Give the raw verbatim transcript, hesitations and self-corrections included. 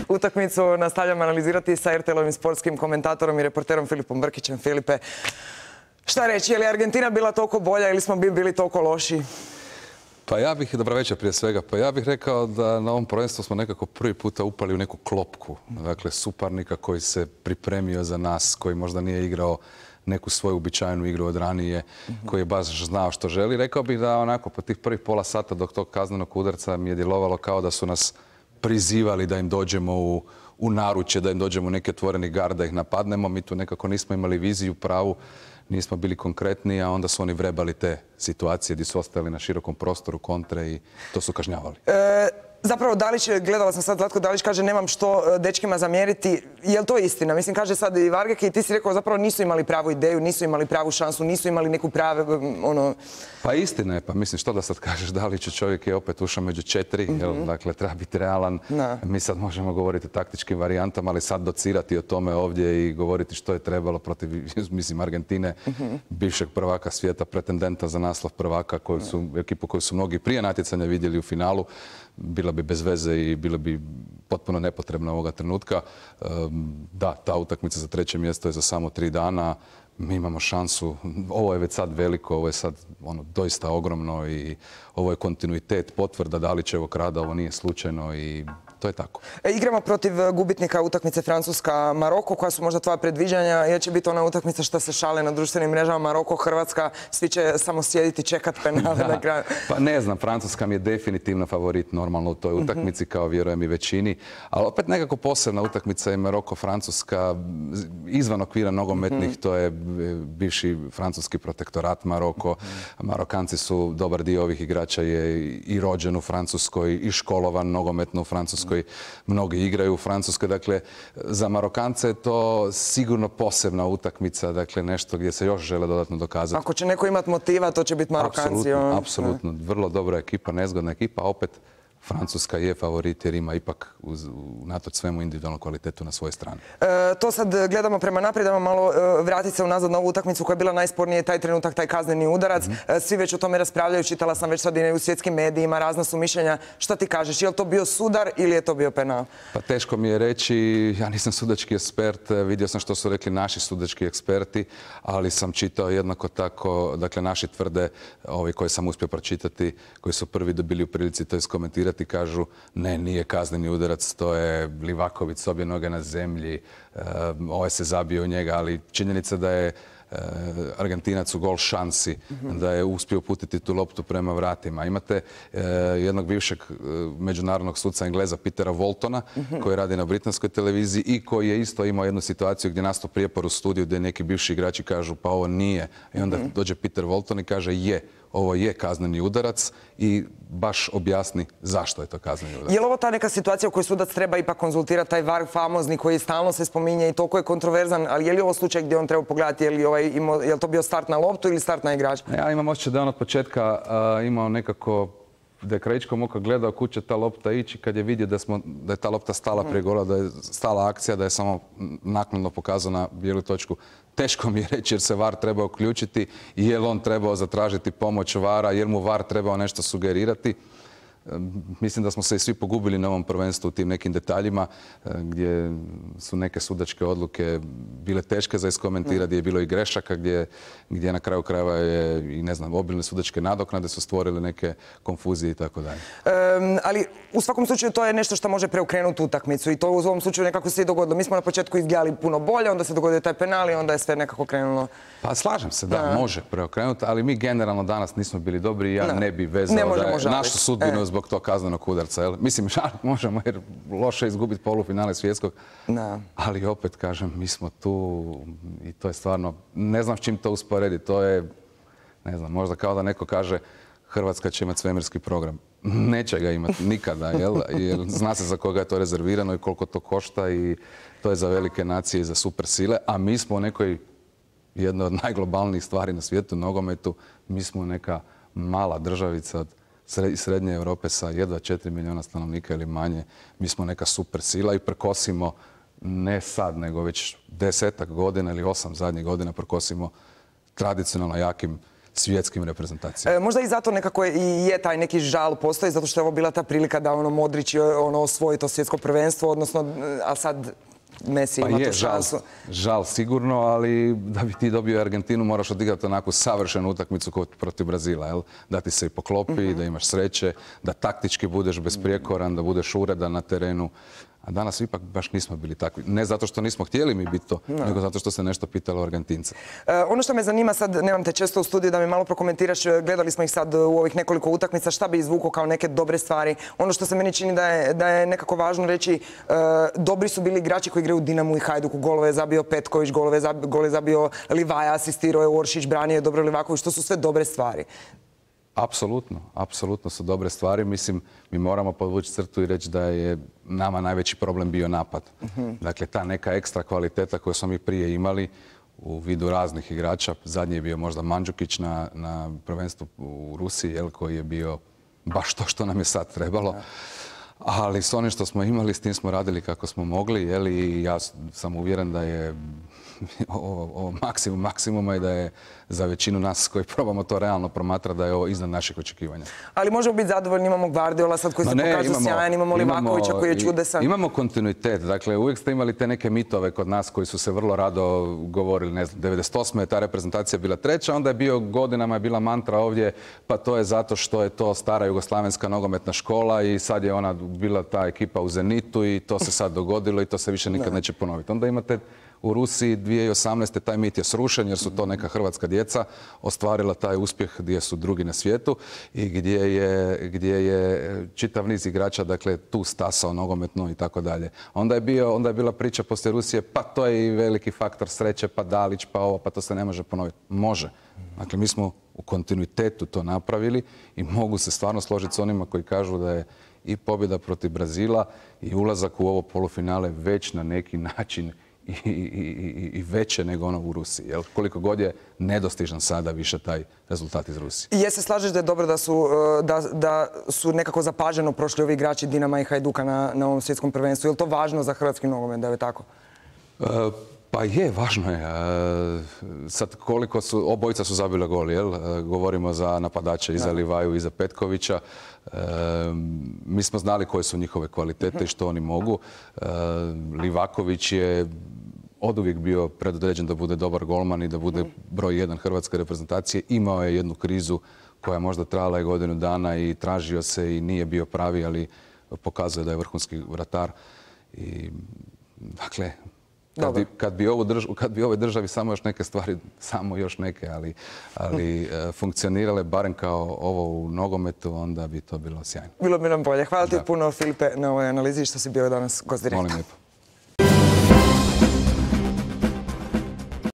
Utakmicu nastavljamo analizirati sa er te el-ovim sportskim komentatorom i reporterom Filipom Brkićem. Filipe, šta reći, je li Argentina bila toliko bolja ili smo bili toliko loši? Pa ja bih, dobro večer prije svega, pa ja bih rekao da na ovom prvenstvu smo nekako prvi puta upali u neku klopku. Dakle, suparnika koji se pripremio za nas, koji možda nije igrao neku svoju uobičajenu igru od ranije, koji je baš znao što želi. Rekao bih da onako po tih prvih pola sata dok tog kaznenog udarca mi je djelovalo kao da su nas prizivali da im dođemo u, u naručje, da im dođemo u neki otvoreni gard, da ih napadnemo. Mi tu nekako nismo imali viziju pravu, nismo bili konkretni, a onda su oni vrebali te situacije gdje su ostali na širokom prostoru kontre i to su kažnjavali. E, zapravo Dalić, gledala sam sad Zlatko Dalić, kaže nemam što dečkima zamjeriti. Je li to istina? Mislim, kaže sad i Vargek i ti si rekao zapravo nisu imali pravu ideju, nisu imali pravu šansu, nisu imali neku prave, ono... Pa istina je, pa mislim što da sad kažeš Daliću, čovjek je opet ušao među četiri, mm-hmm. jel, dakle treba biti realan. No. Mi sad možemo govoriti o taktičkim varijantama, ali sad docirati o tome ovdje i govoriti što je trebalo protiv, mislim, Argentine, mm-hmm. bivšeg prvaka svijeta, pretendenta za naslov prvaka, koju su, no. ekipu koju su mnogi prije natjecanja vidjeli u finalu, bila bi bez veze i bila bi potpuno nepotrebna ovoga trenutka. Da, ta utakmica za treće mjesto je za samo tri dana. Mi imamo šansu, ovo je već sad veliko, ovo je sad ono, doista ogromno i ovo je kontinuitet, potvrda Dalićevog rada, ovo nije slučajno i to je tako. E, igramo protiv gubitnika utakmice Francuska-Maroko, koja su možda tvoja predviđanja, jer će biti ona utakmica što se šale na društvenim mrežama, Maroko-Hrvatska, svi će samo sjediti, čekat penale na kraju. Pa ne znam, Francuska mi je definitivno favorit normalno u toj utakmici, mm-hmm. kao vjerujem i većini, ali opet nekako posebna utakmica je Maroko-Francuska, izvan okvira nogometnih, mm-hmm. to je bivši francuski protektorat Maroko. Mm-hmm. Marokanci su, dobar dio ovih igrača je i rođen u Francuskoj, i školovan nogometno u Francuskoj. Mnogi igraju u Francuskoj, dakle za Marokance je to sigurno posebna utakmica, dakle nešto gdje se još žele dodatno dokazati. Ako će neko imati motiva, to će biti Marokanci. Apsolutno, apsolutno. Vrlo dobra ekipa, nezgodna ekipa, opet Francuska je favorit jer ima ipak uz, unatoč svemu individualnu kvalitetu na svojoj strani. E, to sad gledamo prema naprijed, ajmo malo e, vratiti se unazad na ovu utakmicu koja je bila najspornije, taj trenutak, taj kazneni udarac. Mm-hmm. e, svi već o tome raspravljaju, čitala sam već sad i u svjetskim medijima, razna su mišljenja. Šta ti kažeš, je li to bio sudar ili je to bio penal? Pa teško mi je reći, ja nisam sudački ekspert, vidio sam što su rekli naši sudački eksperti, ali sam čitao jednako tako, dakle naši tvrde, ovi koje sam uspio pročitati, koji su prvi dobili u prilici to iskomentirati, i kažu ne, nije kazneni udarac, to je Livaković s obje noge na zemlji, ovaj se zabio u njega, ali činjenica da je Argentinac u gol šansi, mm-hmm. da je uspio uputiti tu loptu prema vratima. Imate eh, jednog bivšeg eh, međunarodnog suca Engleza, Petera Waltona, mm-hmm. koji radi na britanskoj televiziji i koji je isto imao jednu situaciju gdje nastao prijepor u studiju gdje neki bivši igrači kažu pa ovo nije. I onda mm-hmm. dođe Peter Walton i kaže je, ovo je kazneni udarac i baš objasni zašto je to kazneni udarac. Je li ovo ta neka situacija u kojoj sudac treba ipak konzultirati, taj var famozni koji stalno se spominje i toliko je kontroverzan, ali je li ovo slučaj gdje on treba pogledati, je li, ovaj, imao, je li to bio start na loptu ili start na igrača? Ja imam osjećaj da je on od početka uh, imao nekako, da je krajičkom oka gledao kud će ta lopta ići, kad je vidio da, smo, da je ta lopta stala prije gola, da je stala akcija, da je samo naknadno pokazao na bijelu točku. Teško mi je reći jer se var trebao uključiti i je li on trebao zatražiti pomoć vara, jer mu var trebao nešto sugerirati. Mislim da smo se i svi pogubili na ovom prvenstvu u tim nekim detaljima gdje su neke sudačke odluke bile teške za iskomentirati, gdje je bilo i grešaka, gdje, gdje na kraju krajeva je i ne znam, obilne sudačke nadoknade su stvorile neke konfuzije i tako dalje. Um, ali u svakom slučaju to je nešto što može preokrenuti utakmicu i to u ovom slučaju nekako se i dogodilo. Mi smo na početku izgledali puno bolje, onda se dogodio taj penal i onda je sve nekako krenulo. Pa slažem se, da, da. može preokrenuti, ali mi generalno danas nismo bili dobri i ja no. ne bi vezao ne da je žaliti. našu sudbinu e. zbog tog kaznenog udarca. Jel? Mislim, žaliti možemo jer loše izgubiti polufinale svjetskog, no. ali opet kažem, mi smo tu i to je stvarno, ne znam s čim to usporediti, to je, ne znam, možda kao da neko kaže Hrvatska će imati svemirski program. Neće ga imati nikada, jel? Jer zna se za koga je to rezervirano i koliko to košta i to je za velike nacije i za super sile, a mi smo u nekoj jednoj od najglobalnijih stvari na svijetu, nogometu, mi smo neka mala državica od srednje Europe sa jedva četiri milijuna stanovnika ili manje. Mi smo neka super sila i prkosimo, ne sad, nego već desetak godina ili osam zadnjih godina prkosimo tradicionalno jakim svjetskim reprezentacijama. E, možda i zato nekako i je taj neki žal postoji, zato što je ovo bila ta prilika da ono Modrić ono, osvoji to svjetsko prvenstvo, odnosno, a sad Messi pa ima je, tu šansu. Žal, žal sigurno, ali da bi ti dobio Argentinu moraš odigrati onako savršenu utakmicu protiv Brazila, jel? Da ti se i poklopi, mm-hmm. da imaš sreće, da taktički budeš besprijekoran, da budeš uredan na terenu. A danas ipak baš nismo bili takvi. Ne zato što nismo htjeli mi biti to, no. nego zato što se nešto pitalo Argentinca. E, ono što me zanima sad, nemam te često u studiju, da mi malo prokomentiraš, gledali smo ih sad u ovih nekoliko utakmica, šta bi izvukao kao neke dobre stvari. Ono što se meni čini da je, da je nekako važno reći, e, dobri su bili igrači koji igraju u Dinamu i Hajduku. Golove je zabio Petković, golove je zabio, gol je zabio Livaja, asistirao je Oršić, branio je dobro Livaković. To su sve dobre stvari. Apsolutno, apsolutno su dobre stvari. Mislim, mi moramo podvući crtu i reći da je nama najveći problem bio napad. Uh-huh. Dakle, ta neka ekstra kvaliteta koju smo mi prije imali u vidu raznih igrača. Zadnji je bio možda Mandžukić na, na prvenstvu u Rusiji, jel, koji je bio baš to što nam je sad trebalo. Uh-huh. Ali s onim što smo imali, s tim smo radili kako smo mogli, jel, i ja sam uvjeren da je ovo, ovo maksimum maksimuma i da je za većinu nas koji probamo to realno promatrati da je ovo iznad naših očekivanja. Ali možemo biti zadovoljni, imamo Gvardiola sad koji se pokazao sjajan, imamo Livakovića koji je čudesan. Imamo kontinuitet, dakle uvijek ste imali te neke mitove kod nas koji su se vrlo rado govorili, ne znam, devedeset osme je ta reprezentacija bila treća, onda je bio godinama je bila mantra ovdje, pa to je zato što je to stara jugoslavenska nogometna škola i sad je ona bila ta ekipa u Zenitu i to se sad dogodilo i to se više nikad neće ponoviti. Onda imate u Rusiji dvije tisuće osamnaeste taj mit je srušen jer su to neka hrvatska djeca ostvarila taj uspjeh gdje su drugi na svijetu i gdje je, gdje je čitav niz igrača dakle, tu stasao nogometno i tako dalje. Onda je, bio, onda je bila priča poslije Rusije, pa to je i veliki faktor sreće, pa Dalić, pa ovo, pa to se ne može ponoviti. Može. Dakle, mi smo u kontinuitetu to napravili i mogu se stvarno složiti s onima koji kažu da je i pobjeda protiv Brazila i ulazak u ovo polufinale već na neki način I, i, i, i veće nego ono u Rusiji. Jel? Koliko god je nedostižan sada više taj rezultat iz Rusije. I je se slažeš da je dobro da su, da, da su nekako zapaženo prošli ovi igrači Dinama i Hajduka na, na ovom svjetskom prvenstvu? Je li to važno za hrvatski nogomet da je tako? Uh, Pa je, važno je. Sad koliko su, obojica su zabile gol, jel? Govorimo za napadače i za Livaju i za Petkovića. Mi smo znali koje su njihove kvalitete i što oni mogu. Livaković je oduvijek bio predodređen da bude dobar golman i da bude broj jedan hrvatske reprezentacije. Imao je jednu krizu koja je možda trajala i godinu dana i tražio se i nije bio pravi, ali pokazuje da je vrhunski vratar. I, dakle, Kad bi, kad, bi ovu drž, kad bi ovoj državi samo još neke stvari, samo još neke, ali, ali funkcionirale barem kao ovo u nogometu, onda bi to bilo sjajno. Bilo bi nam bolje. Hvala ti puno, Filipe, na ovoj analizi što si bio danas gost Direkta. Molim lijepo.